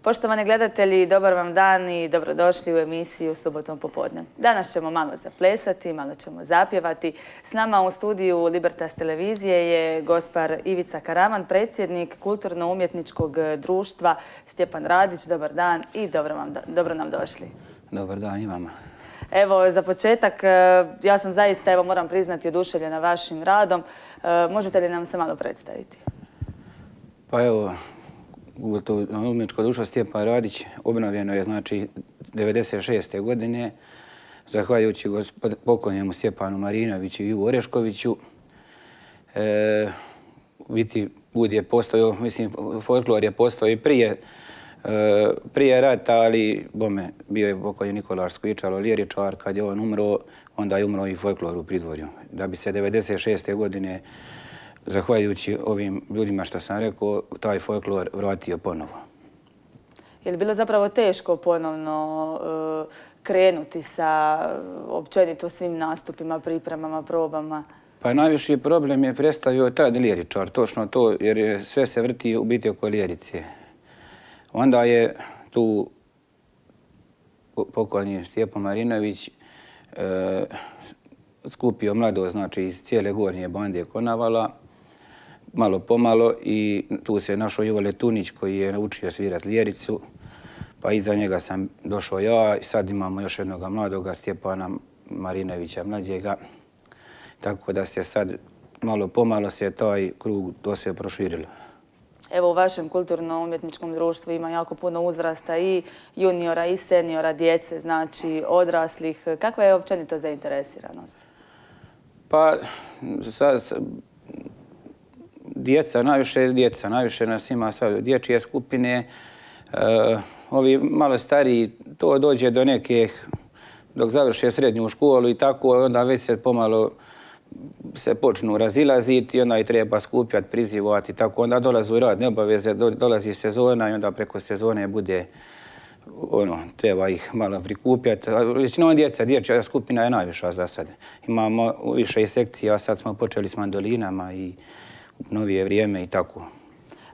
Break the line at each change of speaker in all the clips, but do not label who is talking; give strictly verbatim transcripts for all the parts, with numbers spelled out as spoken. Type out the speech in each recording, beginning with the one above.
Poštovani gledatelji, dobar vam dan i dobrodošli u emisiju Subotom popodne. Danas ćemo malo zaplesati, malo ćemo zapjevati. S nama u studiju Libertas televizije je gospar Ivica Karaman, predsjednik Kulturno-umjetničkog društva Stjepan Radić. Dobar dan i dobro, vam, dobro nam došli.
Dobar dan i vama.
Evo, za početak, ja sam zaista, evo, moram priznati, oduševljena vašim radom. Možete li nam se malo predstaviti?
Pa evo, Kulturno-umjetničko društvo Stjepan Radić obnovljeno je, znači, devedeset šeste godine, zahvaljujući pokojnjemu Stjepanu Marinoviću i Ivu Oreškoviću. E, biti, bud je postojao, mislim, folklor je postojao i prije, e, prije rata, ali bome, bio je pokojni Nikolaš Skvičalo, liričar. Kad je on umro, onda je umro i folklor u Pridvorju. Da bi se devedeset šeste godine, zahvaljujući ovim ljudima što sam rekao, taj folklor vratio ponovo.
Je li bilo zapravo teško ponovno uh, krenuti sa općenito svim nastupima, pripremama, probama?
Pa najviši problem je predstavio tad liričar, točno to, jer je sve se vrti u biti oko lirice. Onda je tu pokojni Stjepan Marinović uh, skupio mlado, znači iz cijele Gornje bande Konavala, malo pomalo, i tu se našao Ivo Letunić koji je naučio svirati liricu, pa iza njega sam došao ja i sad imamo još jednog mladoga, Stjepana Marinovića mlađega, tako da se sad malo pomalo se taj krug to se proširilo.
Evo, u vašem kulturno-umjetničkom društvu ima jako puno uzrasta i juniora i seniora, djece, znači odraslih. Kakva je općenito zainteresiranost?
Pa, sad, djeca, najviše djeca, najviše nas ima sad dječje skupine. E, ovi malo stariji, to dođe do nekih, dok završe srednju školu i tako, onda već se pomalo se počnu razilaziti i onda i treba skupljati, prizivati i tako. Onda dolaze u radne obaveze, dolazi sezona i onda preko sezone bude, ono, treba ih malo prikupljati. Većinom djeca, dječja skupina je najviša za sad. Imamo više i sekcija, sad smo počeli s mandolinama i u novije vrijeme i tako.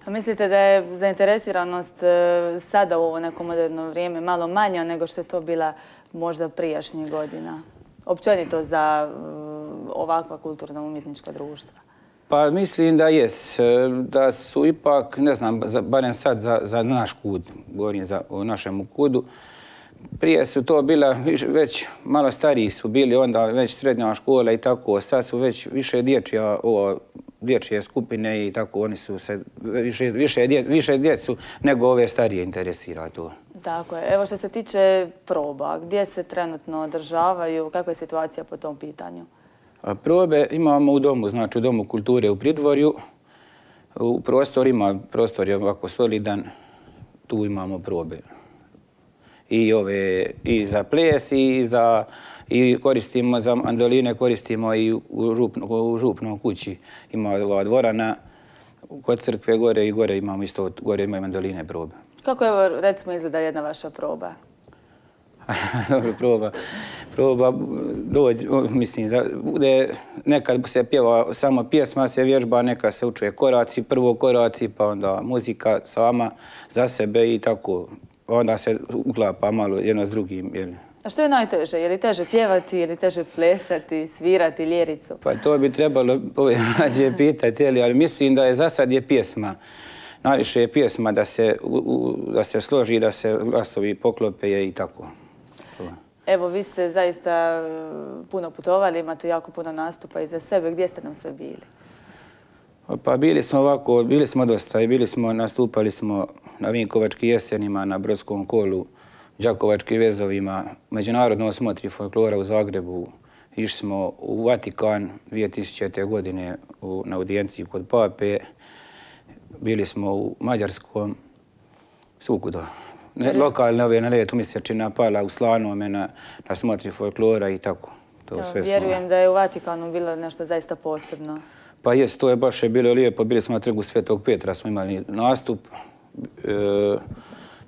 A mislite da je zainteresiranost sada u ovo neko moderno vrijeme malo manja nego što je to bila možda prijašnjih godina? Općenito za ovakva kulturno-umjetnička društva?
Pa mislim da jes. Da su ipak, ne znam, barem sad za, za naš kud, govorim za, o našem kudu, prije su to bila, već malo stariji su bili, onda već srednja škola i tako, sad su već više dječja, ovo, dječje skupine i tako, oni su se više, više, dje, više djecu nego ove starije interesira to.
Tako je. Evo, što se tiče proba, gdje se trenutno održavaju, kakva je situacija po tom pitanju?
A probe imamo u domu, znači u Domu kulture u Pridvorju. U prostor ima, prostor je ovako solidan, tu imamo probe. I ove, i za ples, i za, i koristimo za mandoline, koristimo i u, župno, u župnom kući. Ima ova dvorana, kod crkve gore i gore imamo isto, gore imaju mandoline probe.
Kako evo, recimo, izgleda jedna vaša proba?
proba, proba dođe, mislim, bude, nekad se pjeva samo pjesma, se vježba, neka se učuje koraci, prvo koraci, pa onda muzika sama za sebe i tako. Onda se uklapa malo jedno s drugim. Jel?
A što je najteže? Je li teže pjevati, je li teže plesati, svirati ljericu?
Pa to bi trebalo ove mlađe pitati, ali mislim da je za sad je pjesma. Najviše je pjesma da se, u, da se složi, da se glasovi poklope i tako.
Evo, vi ste zaista puno putovali, imate jako puno nastupa iza sebe. Gdje ste nam sve bili?
Pa bili smo ovako, bili smo dosta i bili smo, nastupali smo na Vinkovačkim jesenima, na Brodskom kolu, Đakovačkim vezovima, međunarodno osmotri folklora u Zagrebu. Išli smo u Vatikan dvije tisućite. godine u, na audijenciji kod Pape. Bili smo u Mađarskom, svukuda. Ne, lokalne ove na letu mjesečina pala u Slanome na, na smotri folklora i tako. To
jo,
sve
vjerujem
smo.
Da je u Vatikanu bilo nešto zaista posebno.
Pa jes, to je baš je bilo lijepo. Bili smo na trgu Svetog Petra, smo imali nastup. E,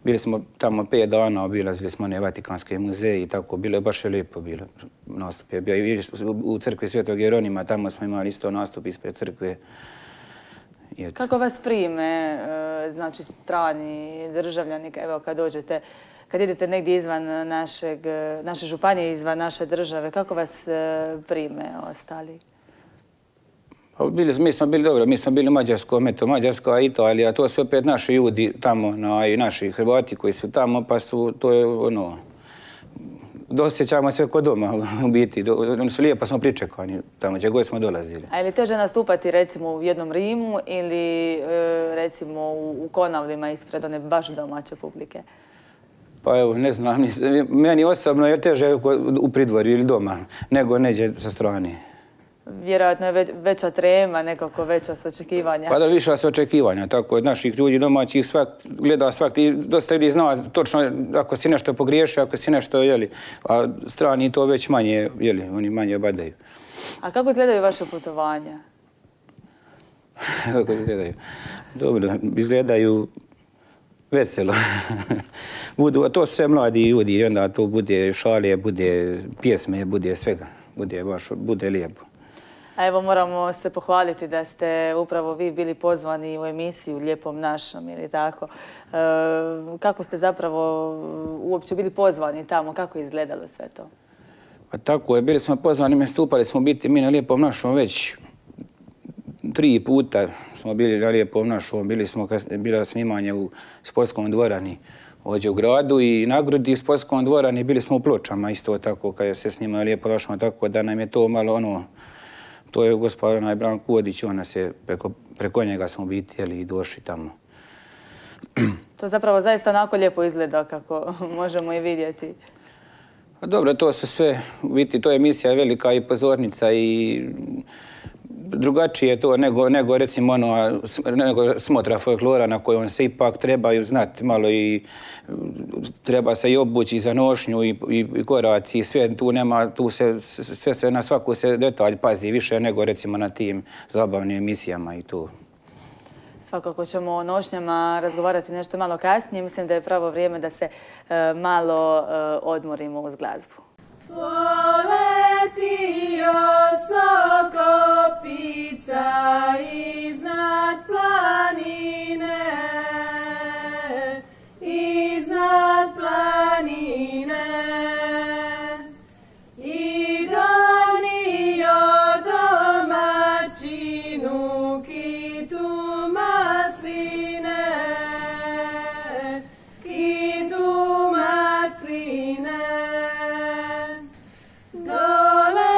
bili smo tamo pet dana, obilazili smo one Vatikanske muzeje i tako. Bilo je baš je lijepo bilo. Nastup je bio i u crkvi Svetog Jeronima, tamo smo imali isto nastup ispred crkve.
Kako vas prime, znači strani državljani, evo kad dođete, kad idete negdje izvan naše županije, izvan naše države, kako vas prime ostali?
Mi smo bili dobro, mi smo bili u Mađarskoj, eto Mađarska, Italija, to su opet naši ljudi tamo, i naši Hrvati koji su tamo, pa su, to je ono, dosjećamo se kod doma u biti, oni su lijepo smo pričekani tamo gdje god smo dolazili.
A je li teže nastupati recimo u jednom Rimu ili recimo u Konavlima ispred one baš domaće publike?
Pa evo, ne znam, meni osobno je teže u pridvorju ili doma nego neđe sa strane.
Vjerojatno je veća trema, nekako veća s očekivanja.
Pa da, više s očekivanja, tako od naših ljudi domaćih gleda svak, i dosta ljudi zna točno ako si nešto pogriješio, ako si nešto, jeli, a strani to već manje, jeli, oni manje obadaju.
A kako izgledaju vaše putovanja?
Kako izgledaju? Dobro, izgledaju veselo. Budu, to su sve mladi ljudi i onda to bude šale, bude pjesme, bude svega, bude baš, bude lijepo.
A evo moramo se pohvaliti da ste upravo vi bili pozvani u emisiju Lijepom našom ili tako. Kako ste zapravo uopće bili pozvani tamo? Kako je izgledalo sve to?
Pa tako je, bili smo pozvani, nastupali smo biti mi na Lijepom našom već tri puta smo bili na Lijepom našom. Bili smo, bilo snimanje u sportskom dvorani ovdje u gradu i na Grudi u sportskom dvorani, bili smo u Pločama isto tako kad se snimali Lijepo našom, tako da nam je to malo ono. To je gospodin Branko Kodić, ona se preko njega smo biti i došli tamo.
To zapravo zaista onako lijepo izgleda kako možemo i vidjeti.
Dobro, to su sve, vidite, to je emisija velika i pozornica i drugačije je to nego recimo ono, nego smotra folklora na kojoj se ipak trebaju znati malo i treba se i obući za nošnju i koraci i sve tu nema, tu se, sve se na svaku se detalj pazi više nego recimo na tim zabavnim emisijama i tu.
Svakako ćemo o nošnjama razgovarati nešto malo kasnije. Mislim da je pravo vrijeme da se malo odmorimo uz glazbu.
Poletio soko ptica iznad planine, iznad planine i donio domaćinu kitu masline, kitu masline. Dole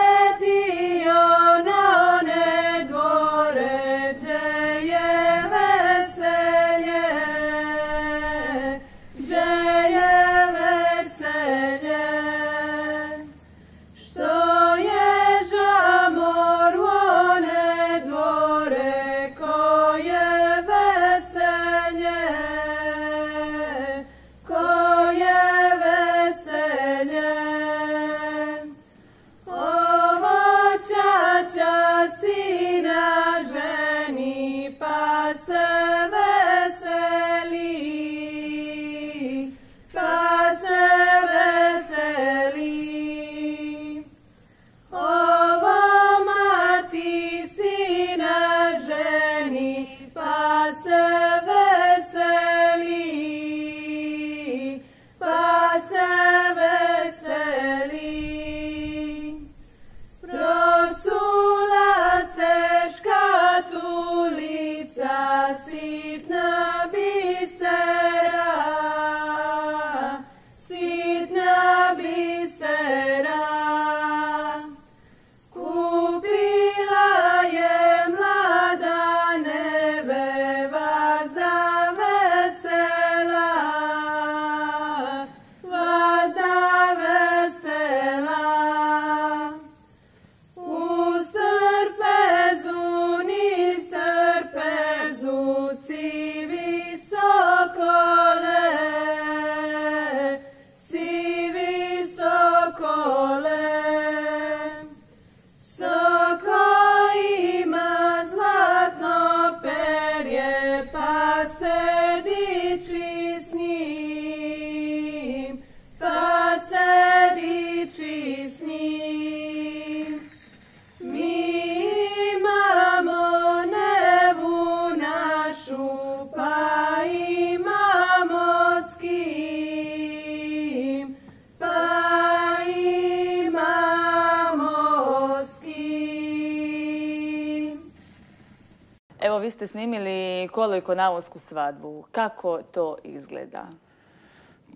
Evo, vi ste snimili Kolo i konavosku svadbu. Kako to izgleda?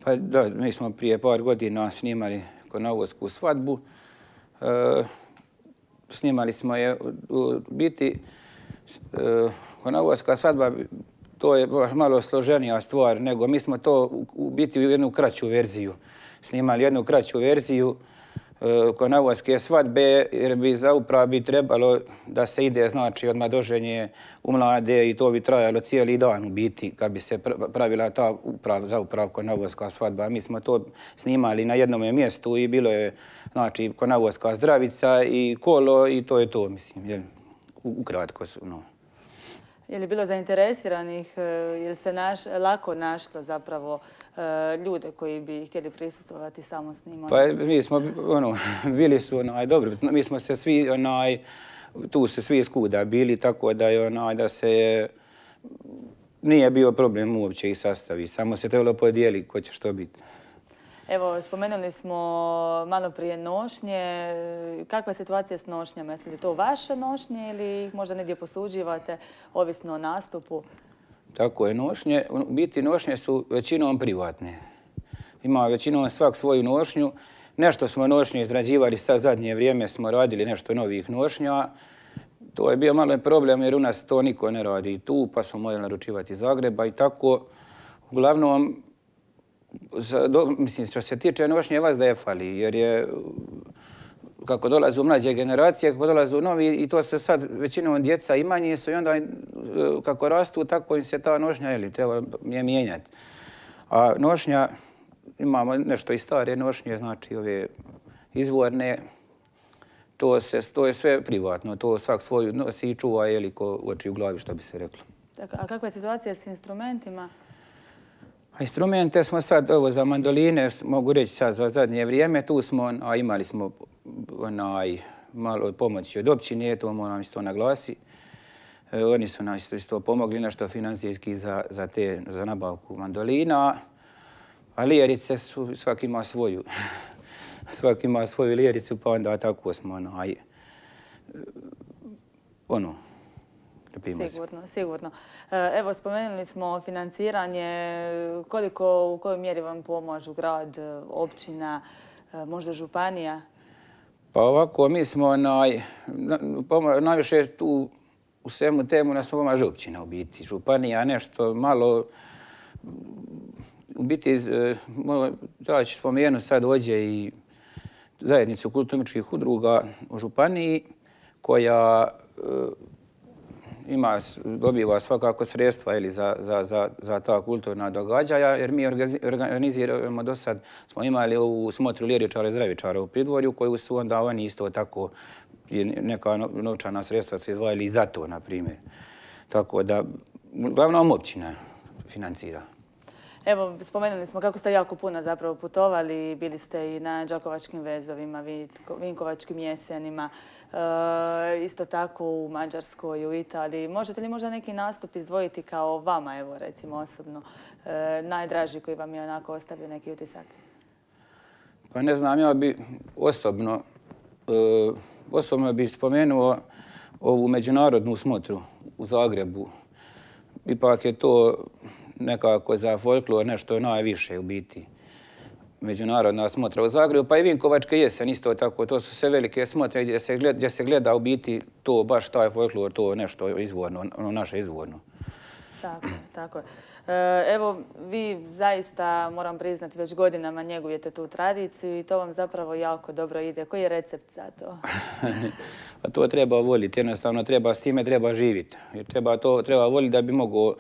Pa da, mi smo prije par godina snimali konavosku svadbu. E, snimali smo je u biti e, konavoska svadba, to je baš malo složenija stvar, nego mi smo to u biti u jednu kraću verziju. Snimali jednu kraću verziju konavoske svadbe, jer bi zaupravo bi trebalo da se ide, znači, odmah doženje u mlade i to bi trajalo cijeli dan u biti kad bi se pravila ta uprav, zauprav konavoska svadba. Mi smo to snimali na jednom mjestu i bilo je, znači, konavoska zdravica i kolo i to je to, mislim, jel, ukratko su, no.
Je li bilo zainteresiranih, je li se naš, lako našlo zapravo ljude koji bi htjeli prisustvovati samo snimanju?
Pa mi smo, ono, bili su, onaj, dobro, mi smo se svi, onaj, tu su svi skuda bili, tako da je, onaj, da se nije bio problem uopće ih sastaviti, samo se trebalo podijeliti ko će što biti.
Evo, spomenuli smo malo prije nošnje. Kakva je situacija s nošnjama? Jesu li to vaše nošnje ili ih možda negdje posuđivate, ovisno o nastupu?
Tako je, nošnje. U biti nošnje su većinom privatne. Ima većinom svak svoju nošnju. Nešto smo nošnje izrađivali, sad zadnje vrijeme smo radili nešto novih nošnja. To je bio malo problem jer u nas to niko ne radi tu, pa smo morali naručivati iz Zagreba i tako. Uglavnom, mislim, što se tiče nošnje, vas da je fali, jer je, kako dolaze u mlađe generacije, kako dolaze u novi, i to se sad većinom djeca i manje su i onda kako rastu, tako im se ta nošnja, jeli, treba je mijenjati. A nošnja, imamo nešto i stare nošnje, znači ove izvorne, to, se, to je sve privatno, to svak svoju nosi i čuva, jeli, ko oči u glavi, što bi se reklo.
A kakva je situacija s instrumentima?
Instrumente smo sad, ovo za mandoline, mogu reći sad za zadnje vrijeme, tu smo, a imali smo onaj, malo pomoći od općine, to moram isto naglasiti. E, oni su nam isto, isto pomogli nešto financijski za, za, te, za nabavku mandolina, a lijerice su, svaki ima svoju. Svaki ima svoju lijericu, pa onda tako smo onaj, ono,
Sigurno, sigurno. Evo, spomenuli smo financiranje. Koliko, u kojoj mjeri vam pomažu grad, općina, možda županija?
Pa ovako, mi smo naj, najviše tu u svemu temu nas pomaže općina u biti. Županija nešto malo, u biti, ja ću spomenuti sad ovdje i zajednicu kulturno-umjetničkih udruga u županiji koja ima, dobiva svakako sredstva ili za, za, za, za ta kulturna događaja, jer mi organiziramo do sad, smo imali ovu smotru liričara i zdravičara u Pridvorju, koju su onda oni isto tako, neka novčana sredstva se izdvajali i za to, na primjer. Tako da, uglavnom općina financira.
Evo, spomenuli smo kako ste jako puno zapravo putovali, bili ste i na Đakovačkim vezovima, Vinkovačkim jesenima, e, isto tako u Mađarskoj, u Italiji. Možete li možda neki nastup izdvojiti kao vama, evo recimo osobno, e, najdraži koji vam je onako ostavio neki utisak?
Pa ne znam, ja bi osobno, e, osobno bi spomenuo ovu međunarodnu smotru u Zagrebu. Ipak je to nekako za folklor nešto najviše u biti. Međunarodna smotra u Zagrebu, pa i Vinkovačke jesen isto tako. To su sve velike smotre gdje se gleda, gdje se gleda u biti to, baš taj folklor, to nešto izvorno, ono naše izvorno.
Tako je, tako je. Evo, vi zaista, moram priznati, već godinama njegujete tu tradiciju i to vam zapravo jako dobro ide. Koji je recept za to?
A to treba voliti, jednostavno treba, s time treba živjeti. Jer treba to treba voliti da bi mogao.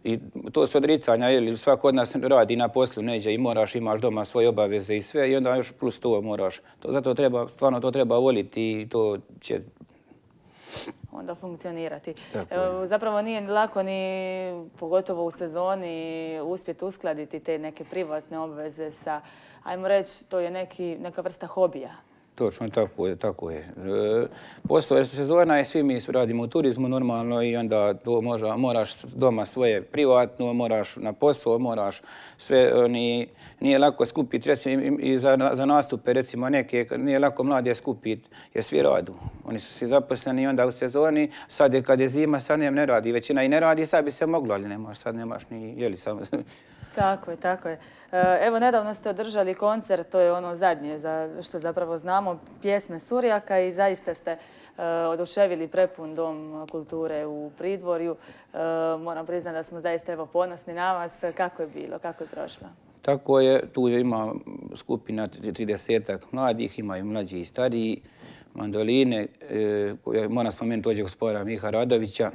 I to su odricanja, jer svako od nas radi na poslu neđe i moraš, imaš doma svoje obaveze i sve i onda još plus to moraš. To, zato treba, stvarno to treba voliti i to će
onda funkcionirati. Evo, zapravo nije lako ni, pogotovo u sezoni, uspjeti uskladiti te neke privatne obveze sa, ajmo reći, to je neki, neka vrsta hobija.
Točno, tako je. Tako je. Posao sezona je, svi mi radimo u turizmu normalno i onda to možda, moraš doma svoje privatno, moraš na posao, moraš sve, ni, nije lako skupiti, recimo i za, za nastupe, recimo neke, nije lako mlade skupiti jer svi radu. Oni su svi zaposleni i onda u sezoni, sad je kad je zima, sad ne radi, većina i ne radi, sad bi se moglo, ali nemaš, sad nemaš ni, jeli samo.
Tako je, tako je. Evo, nedavno ste održali koncert, to je ono zadnje za što zapravo znamo, pjesme Surjaka i zaista ste oduševili prepun dom kulture u Pridvorju. Moram priznati da smo zaista evo ponosni na vas. Kako je bilo, kako je prošlo?
Tako je, tu ima skupina tridesetak mladih, ima i mlađi i stariji, mandoline, moram spomenuti ovdje gospodina Miha Radovića,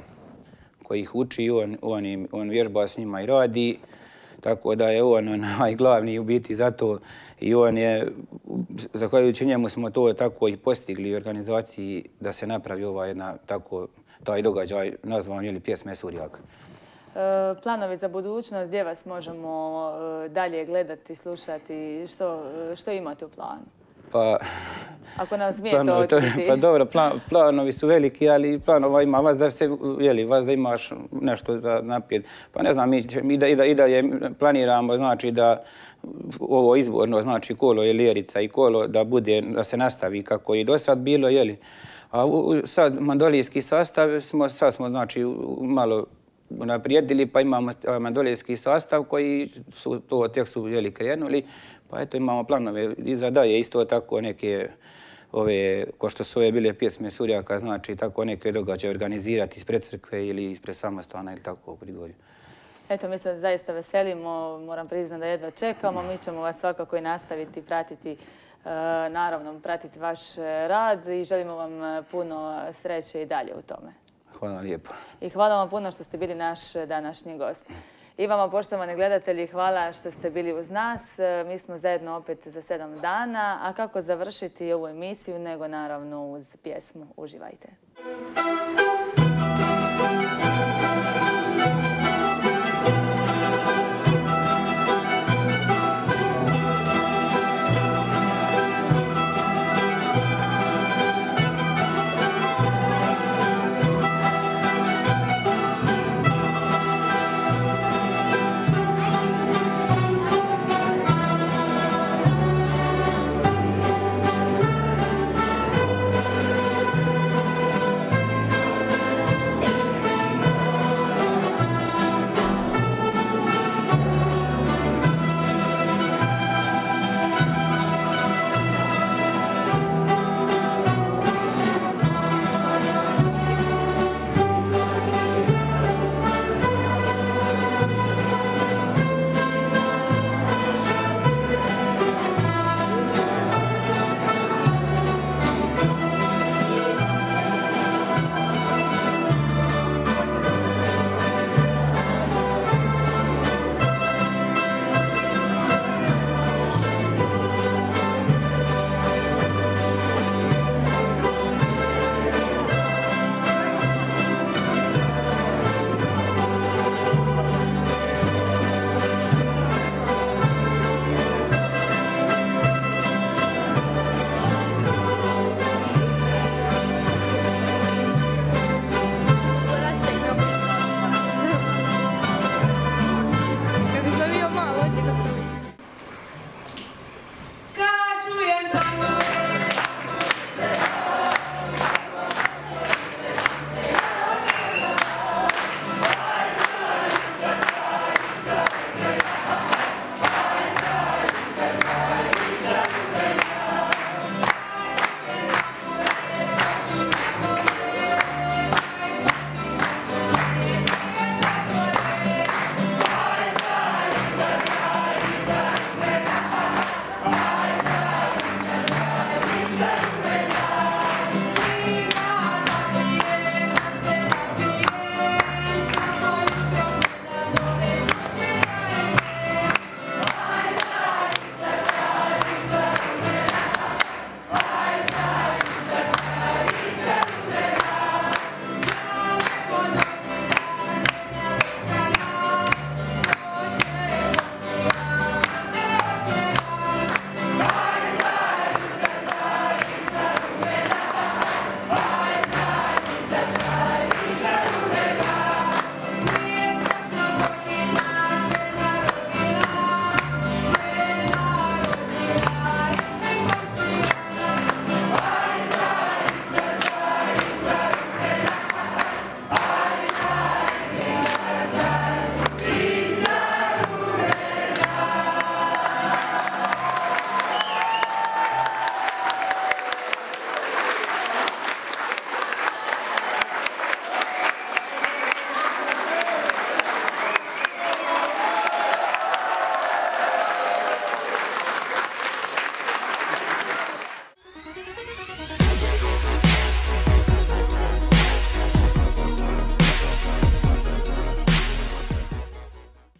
koji ih uči, on, on, on vježba s njima i radi. Tako da je on onaj glavni u biti za to i on je, zahvaljujući njemu smo to tako i postigli u organizaciji da se napravi ova jedna tako, taj događaj nazvan ili pjesme Surjaka.
E, planovi za budućnost, gdje vas možemo dalje gledati, slušati, što, što imate u planu?
Pa,
ako nam smijete otkriti.
Pa dobro, plan, planovi su veliki, ali planova ima vas da se, jeli, vas da imaš nešto za naprijed. Pa ne znam, mi, mi da, i, da, i dalje planiramo, znači da ovo izborno, znači kolo je Ljerica i kolo da bude, da se nastavi kako i do sad bilo, jeli. A u, sad mandolijski sastav smo, sad smo, znači, malo naprijedili, pa imamo mandolijski sastav koji su to tek su jeli krenuli. Pa eto imamo planove i za dalje isto tako neke ove, ko što su ove bile pjesme Surjaka, znači tako neke događaje organizirati ispred crkve ili ispred samostana ili tako u Pridvorju.
Eto, mi se zaista veselimo, moram priznati da jedva čekamo. Mi ćemo vas svakako i nastaviti, pratiti, naravno pratiti vaš rad i želimo vam puno sreće i dalje u tome.
Hvala lijepo.
I hvala vam puno što ste bili naš današnji gost. I vama, poštovani gledatelji, hvala što ste bili uz nas. Mi smo zajedno opet za sedam dana. A kako završiti ovu emisiju, nego naravno uz pjesmu. Uživajte.